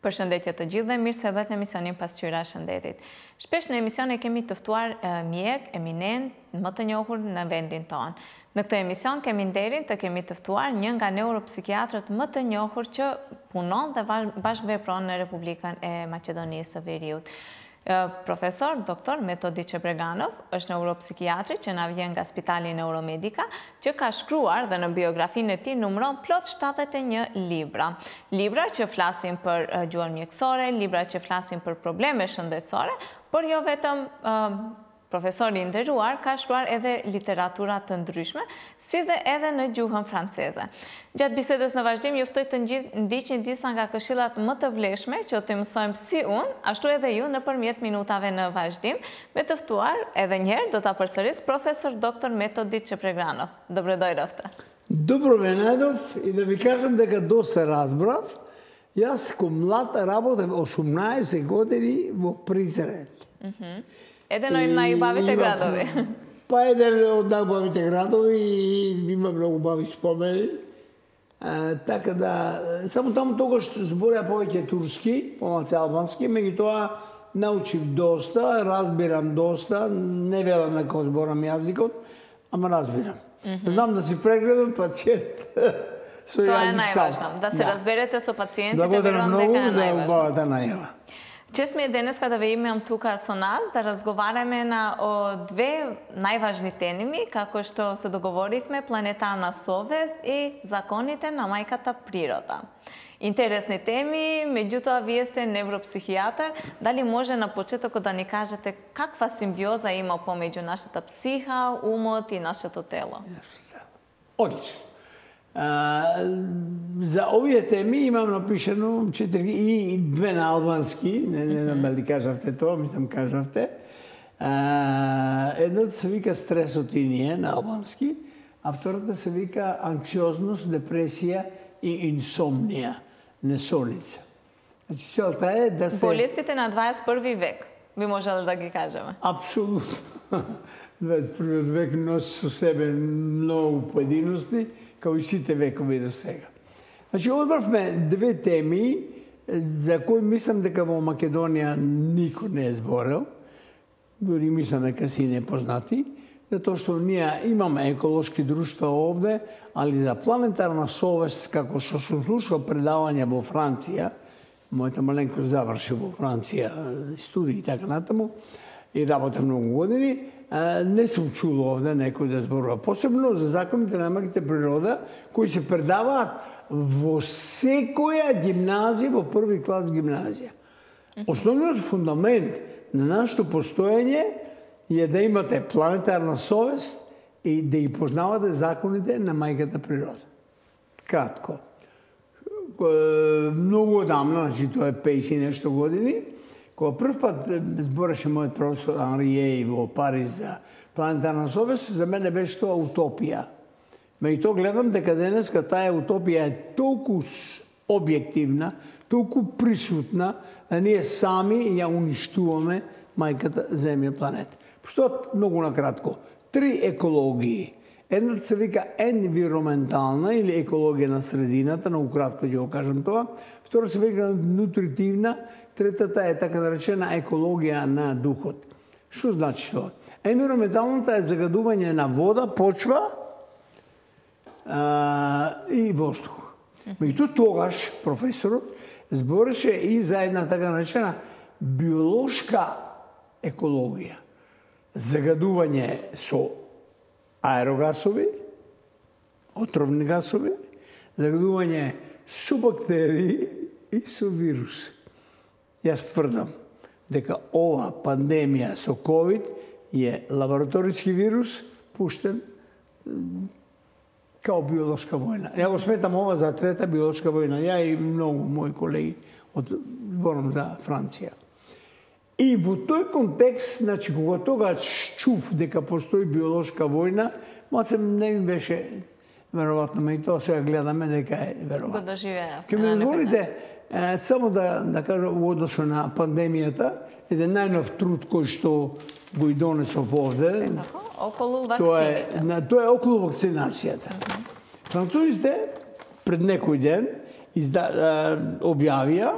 Përshëndetje të gjithë dhe mirë se erdhët në emisionin Pasqyra e Shëndetit. Shpesh në emision e kemi të ftuar mjek, eminent, më të njohur në vendin tonë. Në këtë emision kemi nderin të kemi të ftuar një nga neuropsikiatrët më të njohur që punon dhe bashkëvepron në Republikën e Maqedonisë së Veriut. Profesor Dr. Metodi Çebreganov është neuropsikiatri që na vjen nga Spitali Neuromedika, që ka shkruar dhe në biografinë e tij numëron plot 71 libra. Libra që flasin për gjuhën mjekësore, libra që flasin për probleme shëndetësore, por jo vetëm profesori i nderuar ka shkruar edhe literatura të ndryshme, si dhe edhe në gjuhën franceze. Gjatë bisedës në vazhdim, ju ftoj të ndiqni disa nga këshillat më të vlefshme që të mësojmë si unë, ashtu edhe ju nëpërmjet minutave në vazhdim, me të ftuar edhe një herë do ta përsëris profesor Dr. Metodi Çebreganov. Dobrodoјавте. Добро ме најдов и да ви кажам дека доста разбрав. Јас ко млад работев 18 години во Призрен. Еден од најубавите градови. Па еден од најубавите градови и има многу убави спомени. Така да, само таму тогаш збореа повеќе турски, помалку албански, меѓутоа научив доста, разбирам доста, не велам на кој зборам јазикот, ама разбирам. Знам да си прегледам пациент со јазик сам. Тоа е најважно, да се разберете со пациентите. Благодарам многу за убавата најава. Чест ми е денеска да ве имам тука со нас, да разговараме о две најважни теми, како што се договоривме, планетарна совест и законите на мајката природа. Интересни теми, меѓутоа вие сте невропсихијатар, дали може на почетокот да ни кажете каква симбиоза има помеѓу нашата психа, умот и нашето тело? Одлично. За овие теми имам напишано 4 и две на албански, не знам дали кажавте тоа, мислам кажавте. Едната се вика стресот и ние на албански, а втората се вика анксиозност, депресија и инсомнија, несолница. Значи целта е да се... Болестите на 21 век, би можеле да ги кажеме? Апсолутно. 21 век носи со себе многу поединости, као и сите векови до сега. Значи, одбравме две теми за кои мислам дека во Македонија никој не е зборел, дори мислам дека си непознати, затоа што ние имаме еколошки друштва овде, али за планетарна совест, како што сум слушал предавање во Франција, мојата маленко заврши во Франција студии и така натаму, и работа многу години, не сум чул овде некој да зборува. Посебно за законите на мајката природа, кои се предаваат во секоја гимназија, во први клас гимназија. Основниот фундамент на нашето постоење е да имате планетарна совест и да ги познавате законите на мајката природа. Кратко. Многу одамна, значи тоа е 50 и нешто години, кога прв пат збореше мојот професор Анријеј во Париз за планетарна совест, за мене беше тоа утопија. Меѓутоа гледам дека денеска таа утопија е толку објективна, толку присутна, да ние сами ја уништуваме мајката Земја планета. Што многу накратко, 3 екологии. Едната се вика енвироментална или екологија на средината, многу кратко ќе го кажам тоа. Втора се вика нутритивна, третата е така наречена екологија на духот. Што значи тоа? Енвироменталната е загадување на вода, почва и воздух. Меѓутоа тогаш професорот збореше и за една така наречена биолошка екологија. Загадување со аерогасови, отровни гасови, загадување со бактерии и со вируси. Јас тврдам дека ова пандемија со COVID е лабораториски вирус пуштен као биолошка војна. Ја го сметам ова за трета биолошка војна. Ја и многу мои колеги зборам за Франција. И во тој контекст, значи, кога тогаш чув дека постои биолошка војна, малце не ми беше веројатно, и тоа сега гледаме дека е веројатно. Го доживеа. Ке ми дозволите само да кажам во односу на пандемијата, еден најнов труд кој што го и донесов овде. Околу вакцината. Тоа е околу вакцинацијата. Французите пред некој ден објавија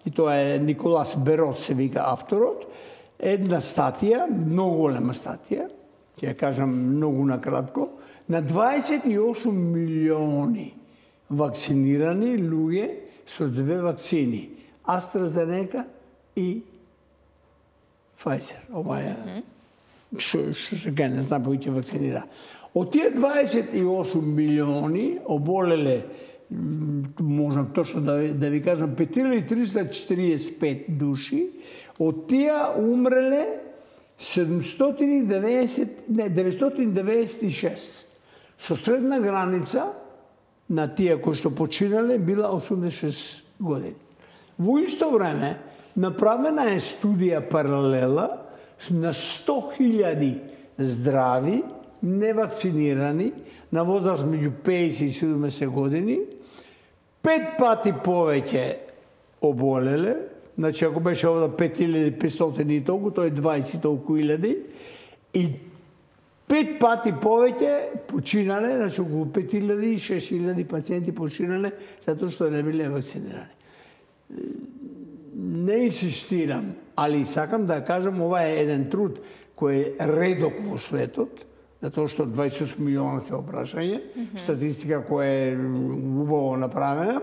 и тоа е Николас Берот, се вика авторот, една статија, многу голема статија, ќе ја кажам многу накратко, на 28 милиони вакцинирани луѓе со две вакцини, AstraZeneca и Pfizer. Ова е што се не знам кој ќе вакцинира. Од тие 28 милиони оболеле, можам точно да ви кажам, 5345 души, од тие умреле 996. Со средна граница на тие кои што починале била 86 години. Во исто време направена е студија паралела на 100.000 здрави, невакцинирани, на возраст меѓу 50 и 70 години, 5 пати повеќе оболеле, значи ако беше овда 5500 и толку, тоа е 20 толку илјади, и 5 пати повеќе починале, значи околу 5000 и 6000 пациенти починале затоа што не биле вакцинирани. Не инсистирам, али сакам да кажам, ова е еден труд кој е редок во светот, затоа што 28 милиона се опрашање, статистика која е убаво направена.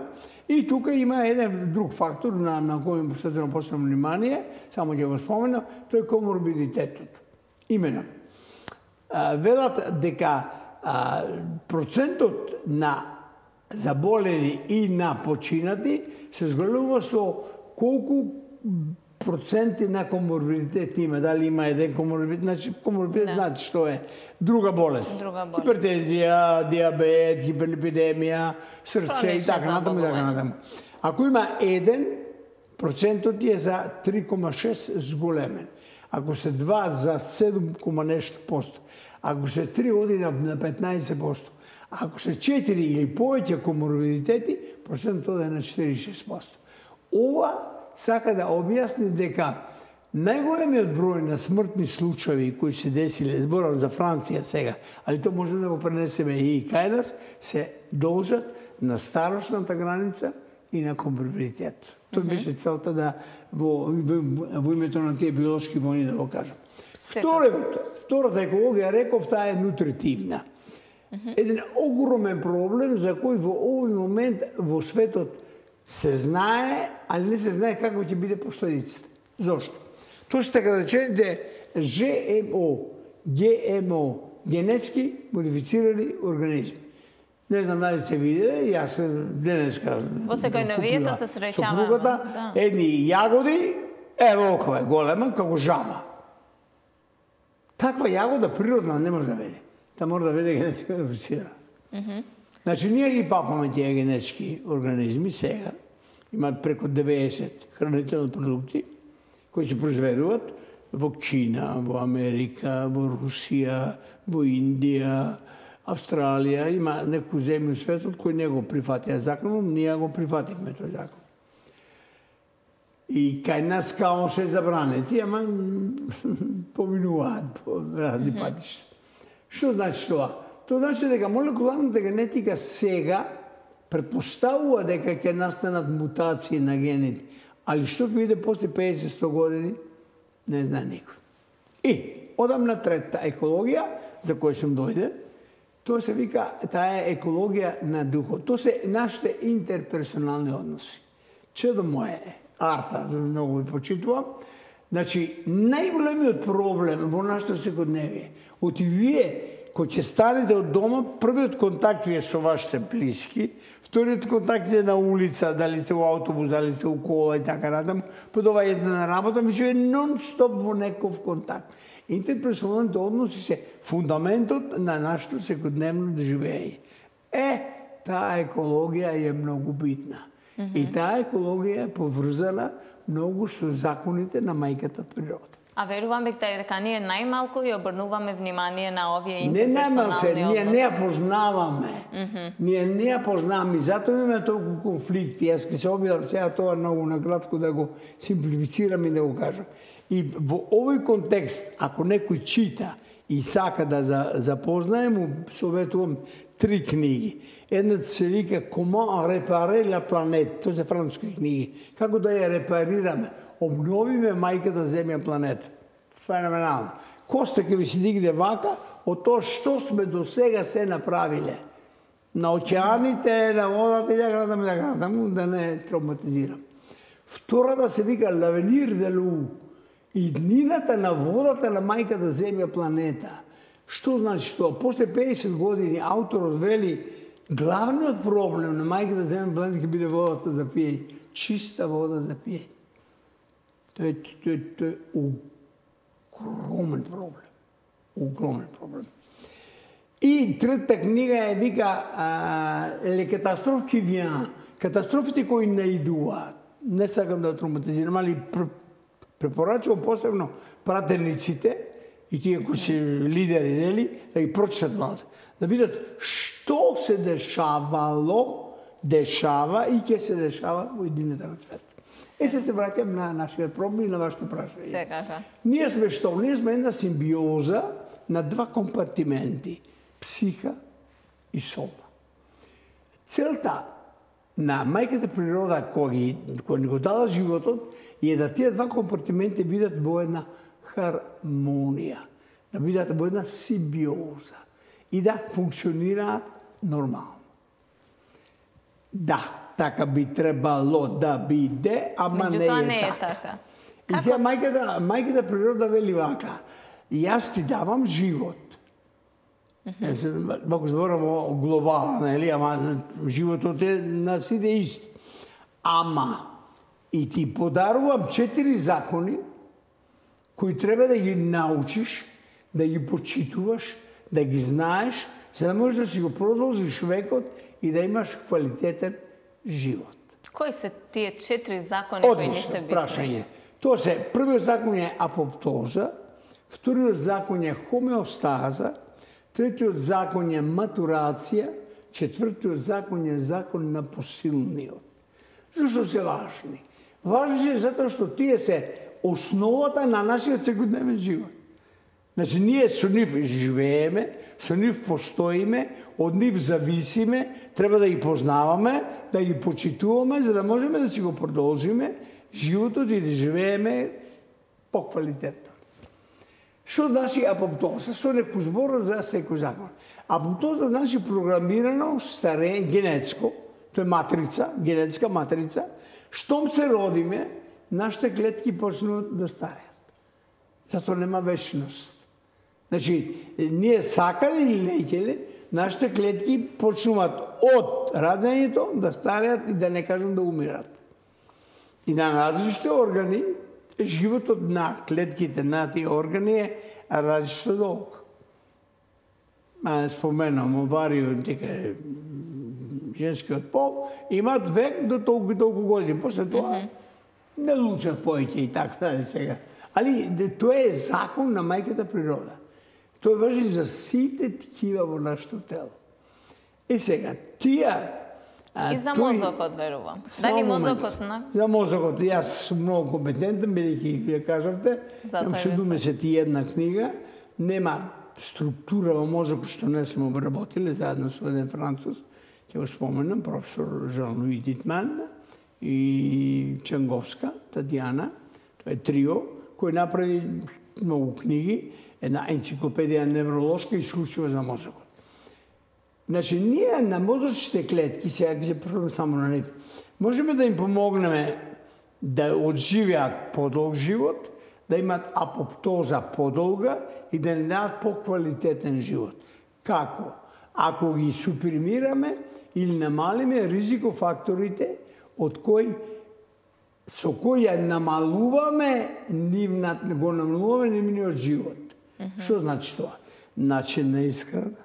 И тука има еден друг фактор на кој му посветено посебно внимание, само ќе го споменам, тој е коморбидитетот. Именно, велат дека процентот на заболени и на починати се зголемува со колку проценти на коморбидитет има, дали има еден коморбидитет, значи коморбидитет значи што е друга болест. Хипертензија, диабет, хиперлипидемија, срце и така натаму и така натаму. Ако има еден, процентот е за 3,6 зголемен. Ако се 2 за 7, нешто посто. Ако се 3 оди на 15%. Ако се 4 или повеќе коморбидитети, процентот е на 46%. Ова сака да објасни дека најголемиот број на смртни случаи кои се десиле, зборам за Франција сега, али тоа можеме да го пренесеме и кај нас, се должат на старосната граница и на коморбидитет. Тоа беше целта да во името на тие биолошки војни да го кажам. Втората екологија, реков, таа е нутритивна. Еден огромен проблем за кој во овој момент во светот се знае, али не се знае како ќе биде последицата. Зошто? Тоа се така речените ГМО, генетски модифицирани организми. Не знам дали се виделе, јас денеска во секој навијата се среќаваме. Сопругата, едни јагоди, волкова е голема, како жаба. Таква јагода природна не може да веде. Та мора да веде генетски модифицирана. Значи, ние ги папаме тие генетски организми сега. Имаат преку 90 хранителни продукти кои се произведуваат во Кина, во Америка, во Русија, во Индија, Австралија. Има некои земји во светот кои не го прифатија законот, ние го прифативме тој закон. И кај нас као се забранети, ама поминуваат по разни патишта. Што значи тоа? Тоа значи дека молекуларната генетика сега претпоставува дека ќе настанат мутации на гените. Али што ќе биде после 50-100 години, не знае никој. И одам на третата екологија, за која сум дојден. Тоа се вика, таа е екологија на духот. Тоа се нашите интерперсонални односи. Чедо моје, Арта, многу ви почитувам. Значи, најголемиот проблем во нашето секојдневие, оти вие кој ќе станете од дома, првиот контакт ви е со вашите блиски, вториот контакт е на улица, дали сте во автобус, дали сте во кола и така натаму, подова една на работа, веќе е нон-стоп во неков контакт. Интерперсоналните односи се фундаментот на нашето секојдневно живење. Таа екологија е многу битна. И таа екологија е поврзана многу со законите на мајката природа. А верувам дека ние најмалку ја обрнуваме внимание на овие Не интерперсонални односи. ние не ја познаваме. Ние не ја познаваме, затоа имаме толку конфликти. Јас ќе се обидам сега тоа многу накратко да го симплифицирам и да го кажам. И во овој контекст, ако некој чита и сака да запознае, му советувам 3 книги. Едната се вика Comment réparer la planète. Тоа се француски книги. Како да ја репарираме, обновиме мајката Земја планета. Феноменално. Коста ќе ви се дигне вака од тоа што сме до сега се направиле. На океаните, на водата и да не травматизирам. Втората се вика L'avenir de l'eau. Иднината на водата на мајката Земја планета. Што значи тоа? После 50 години авторот вели главниот проблем на мајката Земја планета ќе биде водата за пиење. Чиста вода за пиење. Тоа е огромен проблем. Огромен проблем. И третата книга е вика Les catastrophes qui viennent. Катастрофите кои наидуваат. Не сакам да травматизирам, али препорачувам посебно пратениците и тие кои се лидери, нели, да ги прочитат малку. Да видат што се дешава и ќе се дешава во иднината на свет. Се враќам на нашиот проблем и на вашето прашање. Секако. Ние сме што? Ние сме една симбиоза на 2 компартименти. Психа и сома. Целта на мајката природа која ни го дала животот е да тие 2 компартименти бидат во една хармонија, да бидат во една симбиоза и да функционираат нормално. Да, така би требало да биде, ама не е така. И сега мајката природа вели вака, јас ти давам живот. Ако зборам глобално, нели, ама животот е на сите исти. Ама и ти подарувам 4 закони кои треба да ги научиш, да ги почитуваш, да ги знаеш, за да можеш да си го продолжиш векот и да имаш квалитетен живот. Кои се тие 4 закони кои не се битни? Прашање. Тоа се, првиот закон е апоптоза, вториот закон е хомеостаза, третиот закон е матурација, четвртиот закон е закон на посилниот. Зашто се важни? Важни е затоа што тие се основата на нашиот секојдневен живот. Значи, ние со нив живееме, со нив постоиме, од нив зависиме, треба да ги познаваме, да ги почитуваме, за да можеме да си го продолжиме животот и да живееме поквалитетно. Што значи апоптоза? Што некој збор за секој закон. Апоптоза значи програмирано старење, генетско, тоа е матрица, генетска матрица. Штом се родиме, нашите клетки почнуваат да стареат. Затоа нема вечност. Значи, ние сакали или неќели, нашите клетки почнуваат од радењето да стареат и да не кажам да умират. И на различните органи, животот на клетките на тие органи е различно долг. Споменам, овариот, дека женскиот пол, имат век до толку години. После тоа не лучат повеќе и така да сега. Али тоа е закон на мајката природа. Тоа важи за сите ткива во нашето тело. И сега, тие... И за мозокот, верувам. Дали мозокот на... За мозокот, јас сум многу компетентен, бидејќи вие кажавте, имам 71 книга, нема структура во мозокот што не сме обработили, заедно со еден француз, ќе го споменам, професор Жан-Луи Титман и Ченговска, Татјана, тоа е трио, кој направи многу книги, една енциклопедија невролошка исклучива за мозокот. Значи, ние на мозочните клетки, сега ќе се првам само на нив, можеме да им помогнеме да одживеат подолг живот, да имат апоптоза подолга и да не дадат поквалитетен живот. Како? Ако ги супримираме или намалиме ризикофакторите со кои ја намалуваме нивниот живот. Што значи тоа? Начин на исхрана,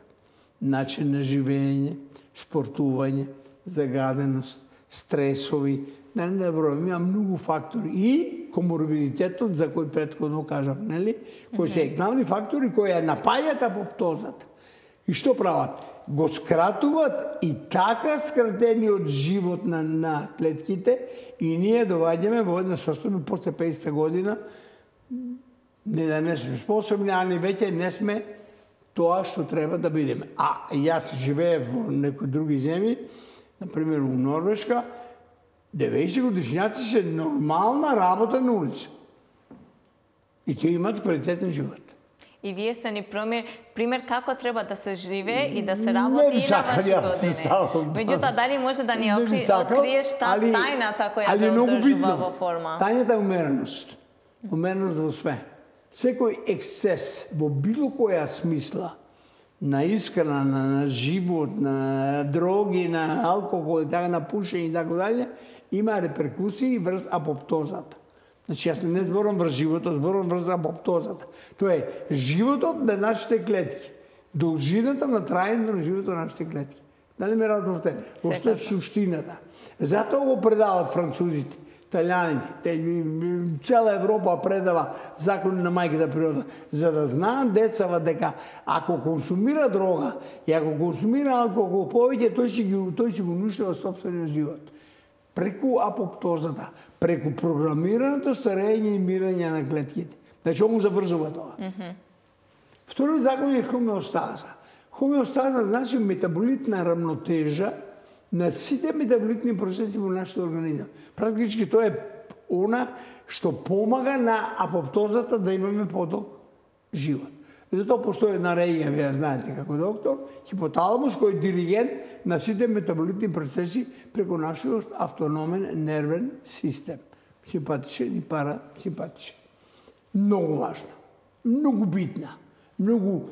начин на живење, спортување, загаденост, стресови, не бројам, има многу фактори. И коморбидитетот, за кој претходно кажав, нели? Кои се главни фактори кои ја напаѓаат апоптозата. И што прават? Го скратуваат и така скратениот живот на клетките и ние доваѓаме во една состојба после 50 година не да не сме способни, али веќе не сме тоа што треба да бидеме. А јас живеев во некои други земји, например у Норвешка, 90 годишњаци се нормална работа на улица. И тие имаат квалитетен живот. И вие сте ни пример како треба да се живее и да се работи и на ваши години. Меѓутоа, дали може да ни откриеш тајната која да одржува во форма? Тајната е умереност. Умереност во све. Секој ексцес во било која смисла на искрана, на живот, на дроги, на алкохол и така, на пушење и така дале, има реперкусии врз апоптозата. Значи, јас не зборам врз животот, зборам врз апоптозата. Тоа е животот на нашите клетки. Должината на трајањето на животот на нашите клетки. Дали ме разбравте? Ошто е суштината. Затоа го предават французите, италијаните, цела Европа предава закони на мајката природа, за да знаат децава дека ако консумира дрога и ако консумира алкохол повеќе, тој ќе го уништува сопствениот живот. Преку апоптозата, преку програмираното старење и мирање на клетките. Значи, он го забрзува тоа. Вториот закон е хомеостаза. Хомеостаза значи метаболитна рамнотежа на сите метаболитни процеси во нашиот организам. Практички тоа е она што помага на апоптозата да имаме подолг живот. Затоа постои една регија, вие знаете како доктор, хипоталамус кој е диригент на сите метаболитни процеси преку нашиот автономен нервен систем. Симпатичен и парасимпатичен. Многу важна, многу битна, многу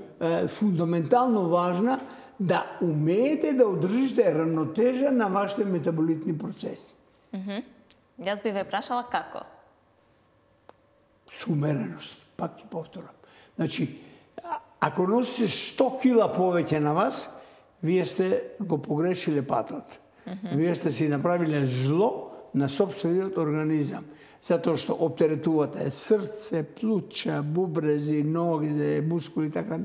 фундаментално важна да умеете да одржите равнотежа на вашите метаболитни процеси. Јас би ве прашала како? С умереност, пак ти повторам. Значи, ако носите 100 кила повеќе на вас, вие сте го погрешиле патот. Вие сте си направиле зло на собствениот организам. Затоа што оптеретувате срце, плуќа, бубрези, ноги, мускули, така.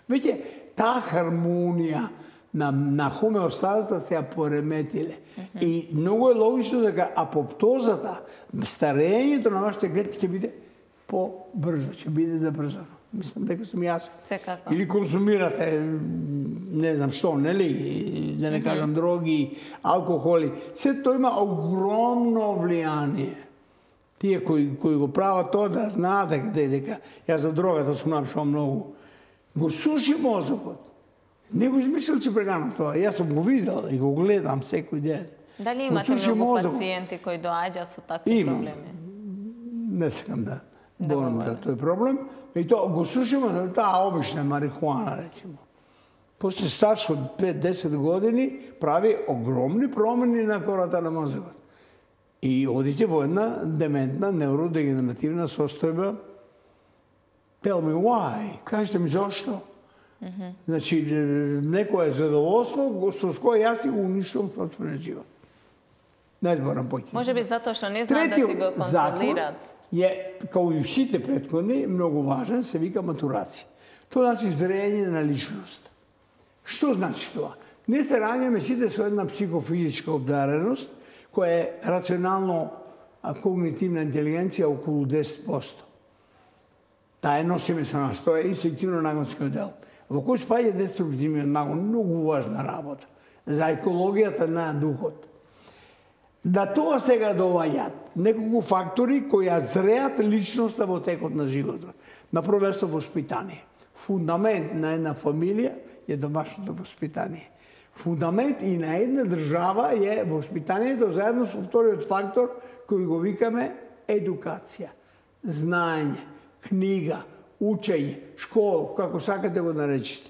Веќе, таа хармонија на хомеостазата се ја пореметиле. И многу е логично дека апоптозата, старењето на вашите клетки ќе биде по-брзо, ќе биде забрзано. Мислам дека сум јас. Секако. Или консумирате, не знам што, нели, да не кажам дроги, алкохоли. Се тоа има огромно влијание. Тие кои го прават тоа да знаат дека јас за дрогата сум напишал многу. Го суши мозокот. Не го измислил, че преганав тоа. Јас сум го видел и го гледам секој ден. Дали имате многу пациенти кои доаѓа со такви проблеми? Не сакам да борам за тој проблем. И тоа го сушимо, таа обична марихуана, речимо. После старш од 5-10 години прави огромни промени на кората на мозокот. И одите во една дементна невродегенеративна состојба. Tell me why? Кажете ми зошто? Значи, некое задоволство со кое јас си го уништувам собствениот живот. Не зборам поќе. Може би затоа што не знаат да си го контролираат. Е, као и сите претходни, многу важен, се вика матурација. Тоа значи зрење на личност. Што значи тоа? Не се раѓаме сите со една психофизичка обдареност, која е рационално когнитивна интелигенција околу 10%. Таа е носиме со нас, тоа е инстинктивно нагонскиот дел. Во кој спаѓа деструктивниот нагон, многу важна работа за екологијата на духот. Да тоа сега доаѓаат неколку фактори кои ја зреат личноста во текот на животот. На прво место воспитание. Фундамент на една фамилија е домашното воспитание. Фундамент и на една држава е воспитанието заедно со вториот фактор кој го викаме едукација. Знаење, книга, учење, школа, како сакате го наречите.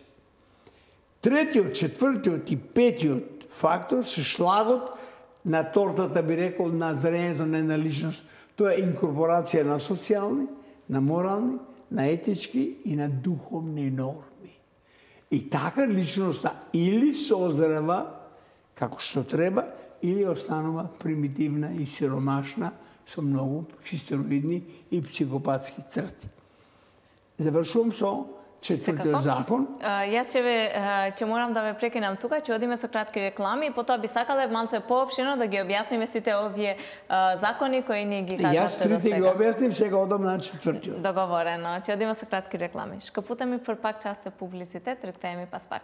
Третиот, четвртиот и петиот фактор се шлагот на тортата, би рекол, на зрењето на една личност. Тоа е инкорпорација на социјални, на морални, на етички и на духовни норми. И така личноста или созрева како што треба, или останува примитивна и сиромашна со многу хистероидни и психопатски црти. Завршувам со четвртиот закон. Јас ќе морам да ве прекинам тука, ќе одиме со кратки реклами и потоа би сакале малце поопштено да ги објасниме сите овие закони кои ни ги кажавте до сега. Јас трите ги објаснив, сега одам на четвртиот. Договорено. Ќе одиме со кратки реклами. Шкапута ми пак част е публицитет, ректај ми пас пак.